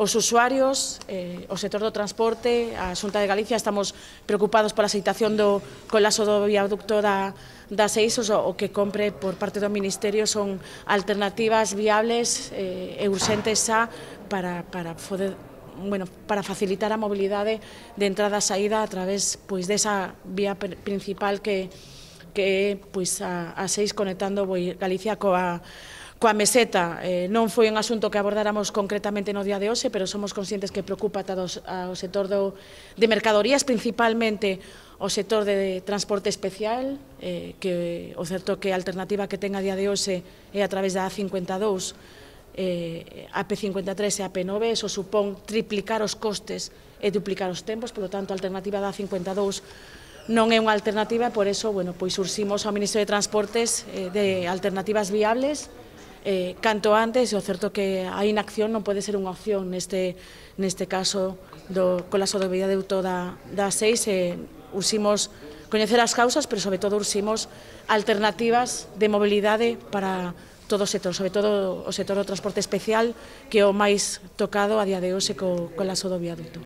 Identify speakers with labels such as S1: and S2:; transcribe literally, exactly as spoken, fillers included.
S1: os usuarios, eh, o sector do transporte, a Xunta de Galicia, estamos preocupados pola situación do colapso do viaducto da, da seis, o, o que compre por parte do Ministerio son alternativas viables eh, e urxentes xa para, para poder Bueno, para facilitar a mobilidade de entrada e saída a través pois, desa vía principal que, que é pois, a, a seis conectando Galicia coa, coa meseta. Eh, non foi un asunto que abordáramos concretamente no día de hoxe, pero somos conscientes que preocupa todos ao sector do, de mercadorías, principalmente o sector de transporte especial, eh, que o certo que a alternativa que ten a día de hoxe é a través da A cincuenta e dous, Eh, A P cincuenta e tres e A P nove, eso supón triplicar os costes e duplicar os tempos, polo tanto a alternativa da A cincuenta e dous non é unha alternativa, e por eso, bueno, pois urximos ao Ministerio de Transportes eh, de alternativas viables eh, canto antes, e o certo que a inacción non pode ser unha opción neste, neste caso do colapso do viaduto da, da seis, e urximos coñecer as causas, pero sobre todo urximos alternativas de mobilidade para todo o sector, sobre todo o sector do transporte especial, que é o máis tocado a día de hoxe co colapso do viaduto.